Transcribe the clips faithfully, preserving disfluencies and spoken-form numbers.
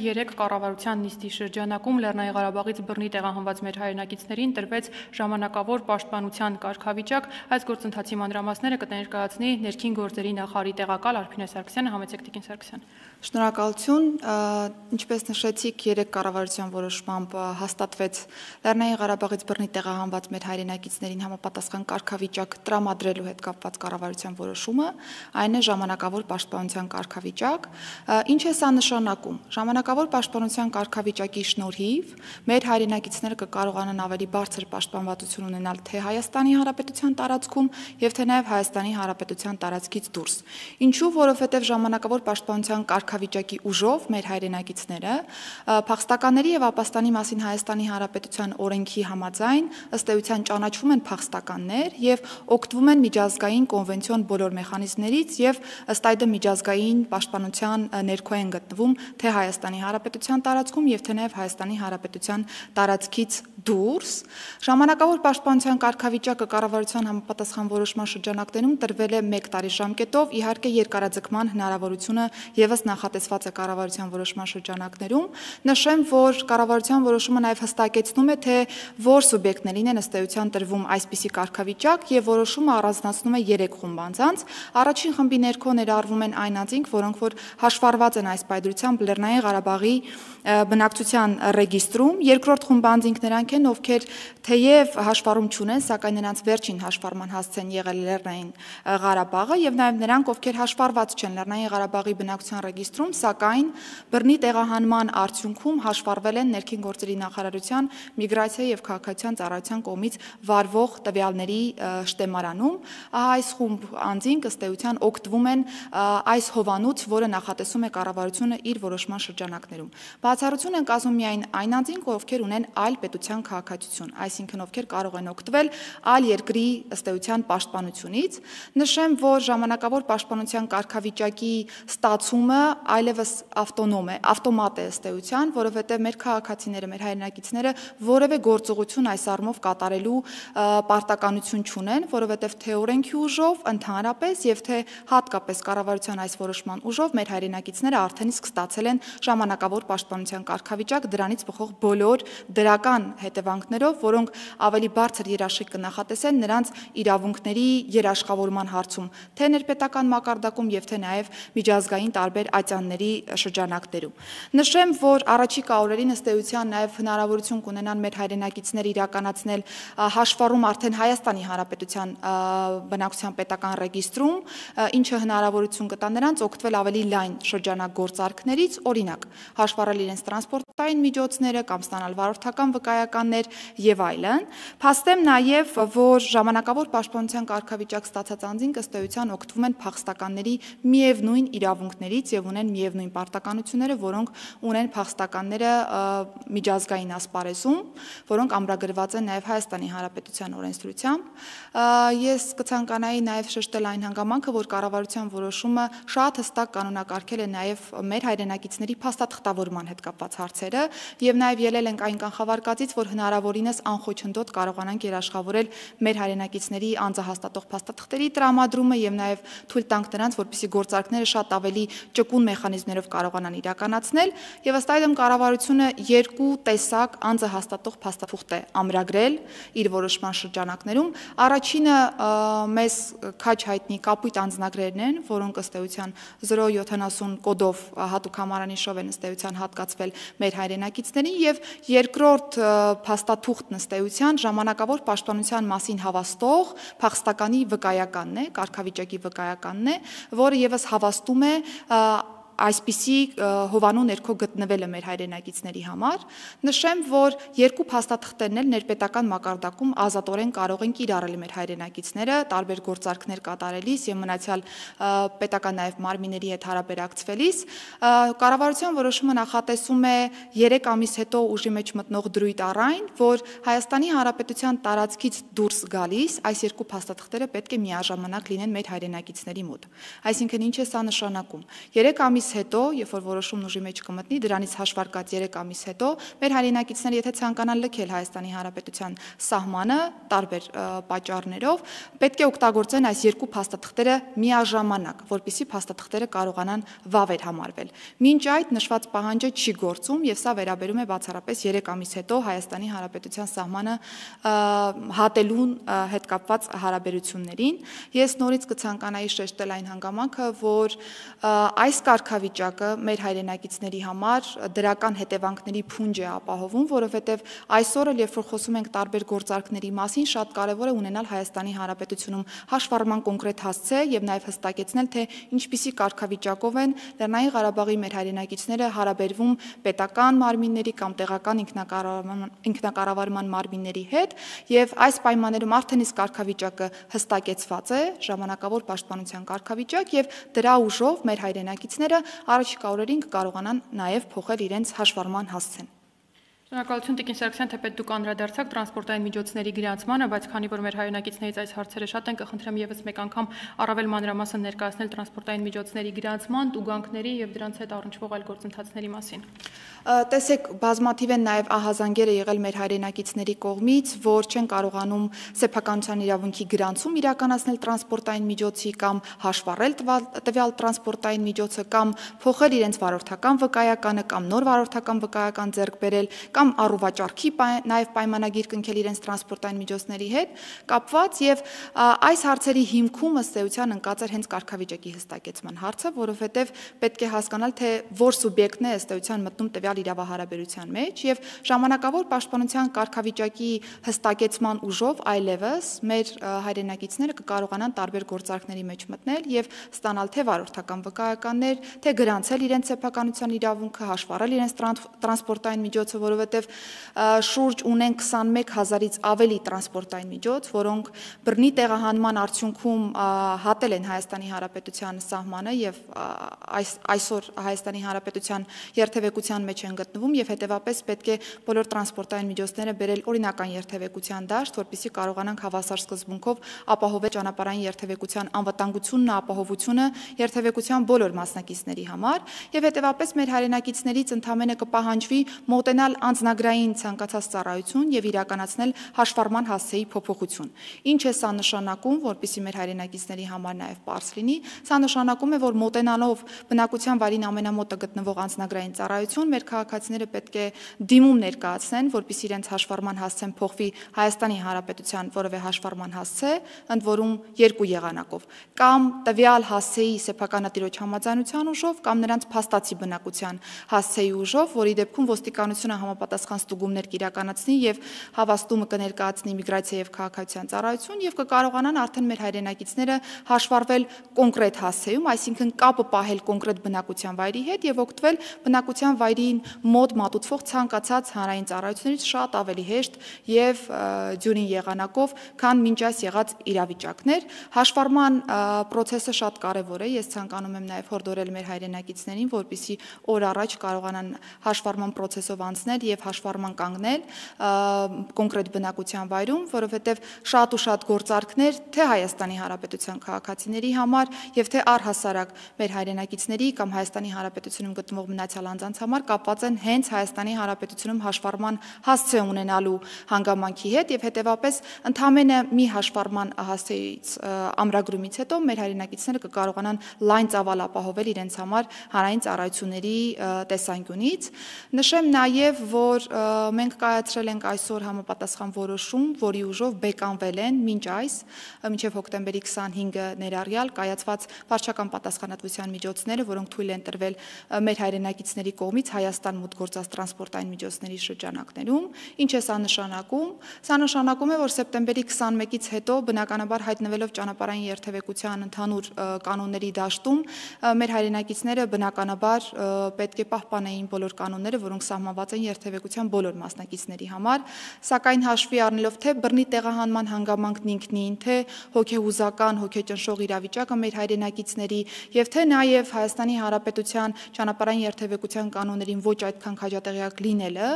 երեք կառավարության նիստի շրջանակում Լեռնային Ղարաբաղից բռնի տեղահանված մեր հայրենակիցներին տրվեց ժամանակավոր պաշտպանության կարգավիճակ։ Այս գործընթացի մանրամասները կներկայացնի ներքին գործերի նախարարի տեղակալ Արփինե Սարգսյանը։ Համեցեք Տիկին Սարգսյան։ Շնորհակալություն, ինչպես նշեցիք, երեք կառավարության որոշմամբ հաստատվեց Լեռնային Ղարաբաղից բռնի տեղահանված մեր հայրենակիցներին համապատասխան կարգավիճակ տրամադրելու հետ կապված կառավարության որոշումը, այն է ժամանակավոր պաշտպանության կարգավիճակ։ Ինչ է սա նշանակում։ Ժամանակավոր պաշտպանության կարգավիճակի շնորհիվ մեր հայրենակիցները կկարողանան ավելի բարձր պաշտպանվածություն ունենալ թե Հայաստանի Հանրապետության տարածքում եւ թե նաեւ Հայաստանի Հանրապետության տարածքից դուրս։ Ինչու, որովհետեւ ժամանակավոր պաշտպանության կարգավիճակի ուժով մեր հայրենակիցները փախստականների եւ ապաստանի մասին Հայաստանի Հանրապետության օրենքի համաձայն ըստ էության ճանաչվում են փախստականներ եւ օգտվում են միջազգային կոնվենցիոն բոլոր մեխանիզմներից եւ ըստ այդմ միջազգային պաշտպանության ներքո են գտնվում թե Հայաստանի Հանրապետության տարածքում եւ թե նաեւ Հայաստանի Հանրապետության տարածքից դուրս։ Ժամանակավոր պաշտպանության կարգավիճակը կառավարության համապատասխան որոշման շրջանակներում տրվել է մեկ տարի ժամկետով, իհարկե երկարաձգման հնարավորությունը եւս նախատեսված է կառավարության որոշման շրջանակներում։ Նշեմ, որ կառավարության որոշումը նաեւ հստակեցնում է, թե որ սուբյեկտներին են ըստ էության տրվում այսպիսի կարգավիճակ եւ որոշումը առանձնացնում է երեք խումբ անձանց։ Առաջին խմբի ներքո ներառվում են այն անձինք, որոնք որ հաշվառված են այս պայծրությամբ Լեռնային Ղարաբաղի բնակչության ռեգիստրում, երկրորդ խումբը անձինք նրանք են, ովքեր թեև հաշվառում չունեն, սակայն նրանց վերջին հաշվառման հասց են եղել Լեռնային Ղարաբաղը եւ նաեւ նրանք, ովքեր հաշվառված չեն Լեռնային Ղարաբաղի բնակչության ռեգիստրում, սակայն բռնի տեղահանման արդյունքում հաշվառվել են ներքին գործերի նախարարության միգրացիա եւ քաղաքացիական ծառայության կողմից վարվող տվյալների շտեմարանում։ Ահա այս խումբ անձինք ըստ էության օգտվում են այս հովանուց, որը նախատեսում է կառավարությունը իր որոշման շրջանակներում։ Բացառություն են կազմում միայն այն անձինք, ովքեր ունեն այլ պետության քաղաքացիություն, այսինքն ովքեր կարող են օգտվել այլ երկրի ըստ էության պաշտպանությունից։ Նշեմ, որ ժամանակավոր պաշտպանության կարգավիճակի ստացումը այլևս ավտոնոմ է, ավտոմատ է ըստ էության, որովհետև մեր քաղաքացիները, մեր հայրենակիցները որևէ գործողություն այս առումով կատարելու պարտականություն չունեն, որովհետև թե օրենքի ուժով ընդհանրապես եւ թե հատկապես կառավարության այս որոշման ուժով մեր հայրենակիցները արդեն իսկ ստացել են ժամանակավոր պաշտպանության կարգավիճակ, դրանից բխող բոլոր դրական հետևանքներով, որոնք ավելի բարձր երաշխիք կնախատեսեն նրանց իրավունքների երաշխավորման հարցում, թե ներպետական մակարդակում եւ թե նաեւ միջազգային տարբեր ատյանների շրջանակներում։ Նշեմ, որ առաջիկա օրերին ըստ էության նաեւ հնարավորություն կունենան մեր հայրենակիցները իրականացնել հաշվառում արդեն Հայաստանի Հանրապետության բնակչության պետական ռեգիստրում, ինչը հնարավորություն կտա նրանց օգտվել ավելի լայն շրջանագործարքներից, օրինակ, հաշվառել իրենց տրանսպորտային միջոցները կամ ստանալ վարորդական վկայականներ եւ այլն։ Փաստեմ նաեւ, որ ժամանակավոր պաշտպանության կարգավիճակ ստացած անձինք ըստ էության օգտվում են փախստականների միևնույն իրավունքներից եւ ունեն միևնույն պարտականությունները, որոնք ունեն փախստականները միջազգային ասպարեզում, որոնք ամրագրված են նաեւ Հայաստանի Հանրապետության օրենսդրությամբ։ Ես կցանկանայի նաեւ շեշտել այն հանգամանքը, որ կառավարության որոշումը շատ հստակ կանոնակարգել է նաեւ մեր հայրենակիցների փաստաթղթավորման հետ կապված հարցերը եւ նաեւ ելել ենք այն կանխավարկածից, որ հնարավորինս անխոչնդոտ կարողանանք երաշխավորել մեր հայրենակիցների անձահաստատող փաստաթղթերի տրամադրումը եւ նաեւ թույլ տանք նրանց, որպեսզի գործարքները շատ ավելի ճկուն մեխանիզմներով կարողանան իրականացնել եւ ըստ այդմ կառավարությունը երկու տեսակ անձահաստատող փաստաթուղթ է ամրագրել իր որոշման շրջանակներում։ Առաջինը մեզ քաջ հայտնի կապույտ անձնագրերն են, որոնք ըստ էության զրո յոթանասուն կոդով հատուկ համարանիշով են ըստ էության հատկացվել մեր հայրենակիցներին եւ երկրորդ փաստաթուղթն ըստ էության ժամանակավոր պաշտպանության մասին հավաստող փախստականի վկայականն է, կարգավիճակի վկայականն է, որը եւս հավաստում է այսպիսի հովանու ներքո գտնվելը մեր հայրենակիցների համար։ Նշեմ, որ երկու փաստաթղթերն էլ ներպետական մակարդակում ազատորեն կարող են կիրառել մեր հայրենակիցները տարբեր գործարքներ կատարելիս եւ մնացյալ պետական նաեւ մարմինների հետ հարաբերակցվելիս։ Կառավարության որոշումը նախատեսում է երեք ամիս հետո ուժի մեջ մտնող դրույթ առայն, որ Հայաստանի Հանրապետության տարածքից դուրս գալիս այս երկու փաստաթղթերը պետք է միաժամանակ լինեն մեր հայրենակիցների մոտ։ Այսինքն ինչ է սա նշանակում։ երեք ամիս ամիս հետո, երբ որ որոշումն ուժի մեջ կմտնի, դրանից հաշվարկած երեք ամիս հետո, մեր հայրենակիցները եթե ցանկանան լքել Հայաստանի Հանրապետության սահմանը տարբեր պատճառներով, պետք է օգտագործեն այս երկու փաստաթղթերը միաժամանակ, որպեսզի փաստաթղթերը կարողանան վավեր համարվել։ Մինչ այդ նշված պահանջը չի գործում եւ սա վերաբերում է բացառապես երեք ամիս հետո Հայաստանի Հանրապետության սահմանը հատելուն հետ կապված հարաբերություններին։ Ես նորից կցանկանայի շեշտել այն հանգամանքը, որ այս կարգավիճակը մեր հայրենակիցների համար դրական հետևանքների փունջ է ապահովում, որովհետև այսօր էլ երբ որ խոսում ենք տարբեր գործարքների մասին, շատ կարևոր է ունենալ Հայաստանի Հանրապետությունում հաշվառման կոնկրետ հասցե եւ նաեւ հստակեցնել, թե ինչպիսի կարգավիճակով են Լեռնային Ղարաբաղի մեր հայրենակիցները հարաբերվում պետական մարմինների կամ տեղական ինքնակառավարման մարմինների հետ եւ այս պայմաններում արդեն իսկ կարգավիճակը հստակեցված է, ժամանակավոր պաշտպանության կարգավիճակ եւ դրա ուժով մեր հայրենակիցները առաջիկա օրերին կկարողանան նաեւ փոխել իրենց հաշվառման հասցեն։ Շնորհակալություն Տիկին Սարգսյան, թեպետ դուք անդրադարձաք տրանսպորտային միջոցների գրանցմանը, բայց քանի որ մեր հայրենակիցներից այս հարցերը շատ են, կխնդրեմ եւս մեկ անգամ առավել մանրամասն ներկայացնել տրանսպորտային միջոցների գրանցման, տուգանքների եւ դրանց հետ առնչվող այլ գործընթացների մասին։ Տեսեք, բազմաթիվ են նաև ահազանգերը եղել մեր հայրենակիցների կողմից, որ չեն կարողանում սեփականության իրավունքի գրանցում իրականացնել տրանսպորտային միջոցի կամ հաշվառել տվյալ տրանսպորտային միջոցը կամ փոխել իրենց վարորդական վկայականը կամ նոր վարորդական վկայական ձեռք բերել կամ առուվաճառքի նաև պայմանագիր կնքել իրենց տրանսպորտային միջոցների հետ կապված եւ այս հարցերի հիմքում ըստ էության ընկած էր հենց կարգավիճակի հստակեցման հարցը, որովհետեւ պետք է հասկանալ, թե որ սուբյեկտն է ըստ էության մտնում տվյալ իրավահարաբերության մեջ եւ ժամանակավոր պաշտպանության կարգավիճակի հստակեցման ուժով այլևս մեր հայրենակիցները կկարողանան տարբեր գործարքների մեջ մտնել եւ ստանալ թե վարորդական վկայականներ, թե գրանցել իրենց սեփականության իրավունքը, հաշվառել իրենց տրանսպորտային միջոցը, որովհետեւ շուրջ ունեն քսանմեկ հազարից ավելի տրանսպորտային միջոց, որոնք բռնի տեղահանման արդյունքում հատել են Հայաստանի Հանրապետության սահմանը եւ այս այսօր Հայաստանի Հանրապետության երթևեկության մեջ են գտնվում եւ հետեւապես պետք է բոլոր տրանսպորտային միջոցները բերել օրինական երթևեկության դաշտ, որպեսզի կարողանանք հավասար սկզբունքով ապահովել ճանապարհային երթևեկության անվտանգությունն, ապահովությունը երթևեկության բոլոր մասնակիցների համար եւ հետեւապես մեր հայրենակիցներից ընդամենը կպահանջվի մոտենալ անձնագրային ցանկացած ծառայություն եւ իրականացնել հաշվառման հասցեի փոփոխություն։ Ինչ է սա նշանակում, որպեսզի մեր հայրենակիցների համար նաեւ པարզ լինի, սա նշանակում է, որ մոտենալով բնակության վայրին ամենամոտը գտնվող անձնագրային ծառայություն մեր քաղաքացիները պետք է դիմում ներկայացնեն, որպեսզի իրենց հաշվառման հասցեն փոխվի Հայաստանի Հանրապետության որևէ հաշվառման հասցե, ընդ որում երկու եղանակով, կամ տվյալ հասցեի սեփականատիրոջ համաձայնության ուժով, կամ նրանց փաստացի բնակության հասցեի ուժով, որի դեպքում ոստիկանությունը համապատասխան ստուգումներ կիրականացնի եւ հավաստումը կներկայացնի միգրացիա եւ քաղաքացիական ծառայություն եւ կկարողանան արդեն մեր հայրենակիցները հաշվառվել կոնկրետ հասցեում, այսինքն կապը պահել կոնկրետ բնակության վայրի հետ եւ օգտվել բնակության վայրին մոտ մատուցվող ցանկացած հանրային ծառայություններից շատ ավելի հեշտ եւ ձյունին եղանակով, քան մինչ այս եղած իրավիճակներ։ Հաշվառման process-ը շատ կարեւոր է։ Ես ցանկանում եմ նաեւ հորդորել մեր հայրենակիցներին, որպեսզի օր առաջ կարողանան հաշվառման process-ով անցնել եւ հաշվառման կանգնել կոնկրետ բնակության վայրում, որովհետեւ շատ ու շատ գործարքներ թե Հայաստանի Հանրապետության քաղաքացիների համար եւ թե առհասարակ մեր հայրենակիցների կամ Հայաստանի Հանրապետությունում գտնվող մնացյալ անձանց համար կապված են հենց Հայաստանի Հանրապետությունում հաշվառման հասցե ունենալու հանգամանքի հետ եւ հետեւապես ընդամենը մի հաշվառման հասցեից ամրագրումից հետո մեր հայրենակիցները կկարողանան լայն ծավալ ապահովել իրենց համար հանրային ծառայությունների տեսանկյունից։ Նշեմ նաեւ, որ մենք կայացրել ենք այսօր համապատասխան որոշում, որի ուժով բեկանվել են մինչ այս մինչեւ հոկտեմբերի քսանհինգը ներառյալ կայացված վարչական պատասխանատվության միջոցները, որոնք թույլ են տրվել մեր հայրենակիցների կողմից Հայաստան մուտք գործած տրանսպորտային միջոցների շրջանակներում։ Ինչ է սա նշանակում։ Սա նշանակում է, որ սեպտեմբերի քսանմեկից հետո բնականաբար հայտնվելով ճանապարհային երթևեկության ընդհանուր կանոնների դաշտում մեր հայրենակիցները բնականաբար պետք է պահպանեին բոլոր կանոնները, որոնք սահմանված են երթևեկության երթևեկության բոլոր մասնակիցների համար, սակայն հաշվի առնելով թե բռնի տեղահանման հանգամանքն ինքնին, թե հոգեհուզական, հոգեճնշող իրավիճակը մեր հայրենակիցների եւ թե նաեւ Հայաստանի Հանրապետության ճանապարհային երթևեկության կանոններին ոչ այդքան քաջատեղյակ լինելը,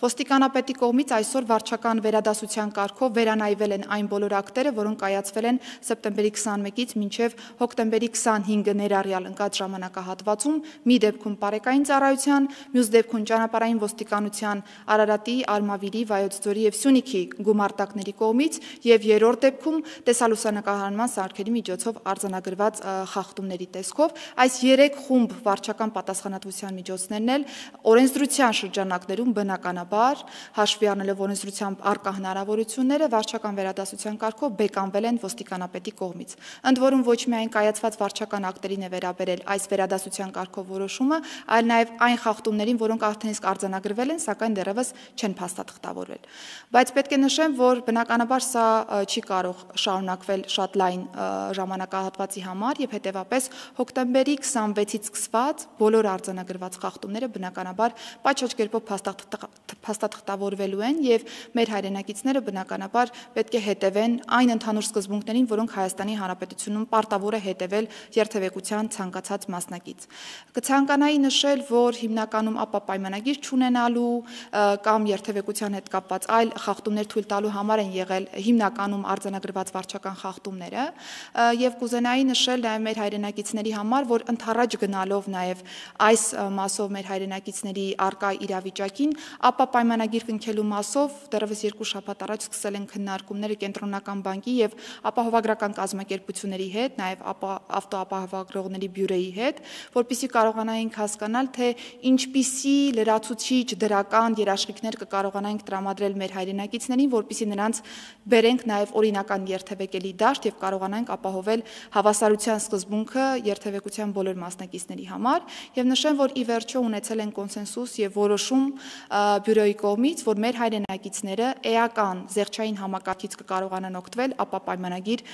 ոստիկանապետի կողմից այսօր վարչական վերադասության կարգով վերանայվել են այն բոլոր ակտերը, որոնք կայացվել են սեպտեմբերի քսանմեկից մինչև հոկտեմբերի քսանհինգը ներառյալ ընկած ժամանակահատվածում, մի դեպքում պարեկային ծառայության, մյուս դեպքում ճանապարհային ոստիկանության Արարատի, Արմավիրի, Վայոց ձորի եւ Սյունիքի գումարտակների կողմից եւ երրորդ դեպքում տեսալուսանկարման սարքերի միջոցով արձանագրված խախտումների տեսքով այս երեք խումբ վարչական պատասխանատվության միջոցներն էլ օրենսդրության շրջանակներում բնականաբար հաշվի առնելով օրենսդրությամբ առկա հնարավորությունները վարչական վերադասության կարգով բեկանվել են ոստիկանապետի կողմից։ Ընդ որում ոչ միայն կայացված վարչական ակտերին է վերաբերել այս վերադասության կարգով որոշումը, այլ նաև այն խախտումներին, որոնք արդեն իսկ արձանագրվել են, սակայն դեռևս չեն փաստաթղթավորվել։ Բայց պետք է նշեմ, որ բնականաբար սա չի կարող շարունակվել շատ լայն ժամանակահատվածի համար եւ հետեւապես հոկտեմբերի քսանվեցից սկսված բոլոր արձանագրված խախտումները բնականաբար պատշաճ կերպով փաստաթղթավորվելու են եւ մեր հայրենակիցները բնականաբար պետք է հետևեն այն ընդհանուր սկզբունքներին, որոնք Հայաստանի Հանրապետությունում պարտավոր է հետևել երթևեկության ցանկացած մասնակից։ Կցանկանայի նշել, որ հիմնականում ապա պայմանագիր չունենալու կամ երթևեկության հետ կապված այլ խախտումներ թույլ տալու համար են եղել հիմնականում արձանագրված վարչական խախտումները եւ կուզենայի նշել նաեւ մեր հայրենակիցների համար, որ ընդառաջ գնալով նաեւ այս մասով մեր հայրենակիցների արկա իրավիճակին, ապա պայմանագիր կնքելու մասով դեռևս երկու շաբաթ առաջ սկսել են քննարկումները կենտրոնական բանկի եւ ապահովագրական կազմակերպությունների հետ, նաեւ ավտոապահովագրողների բյուրոյի հետ, որպեսզի կարողանայինք հասկանալ, թե ինչպիսի լրացուցիչ դրական երաշխիքներ կկարողանայինք տրամադրել մեր հայրենակիցներին, որպեսզի նրանց բերենք նաեւ օրինական երթևեկելի դաշտ եւ կարողանանք ապահովել հավասարության սկզբունքը երթևեկության բոլոր մասնակիցների համար եւ նշեմ, որ ի վերջո ունեցել են կոնսենսուս եւ որոշում բյուրոյի կողմից, որ մեր հայրենակիցները էական զեղչային համակարգից կկարողանան օգտվել ապա պայմանագիր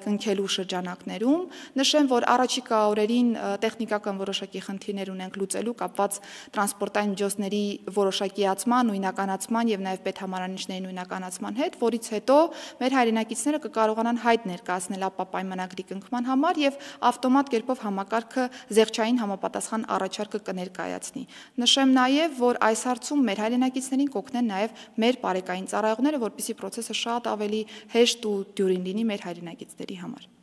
կնքելու շրջանակներում։ Նշեմ, որ առաջիկա օրերին տեխնիկական որոշակի խնդիրներ ունենք լուծելու կապված տրանսպորտային միջոցների որոշակիացման, նույնականացման եւ նաեւ պետհամարանիշների նույնականացման հետ, որից հետո մեր հայրենակիցները կկարողանան հայտ ներկայացնել ապա պայմանագրի կնքման համար եւ ավտոմատ կերպով համակարգը զեղչային համապատասխան առաջարկը կներկայացնի։ Նշեմ նաեւ, որ այս հարցում մեր հայրենակիցներին կօգնեն նաեւ մեր պարեկային ծառայողները, որպեսզի process-ը շատ ավելի հեշտ ու դյուրին լինի մեր հայրենակիցների համար։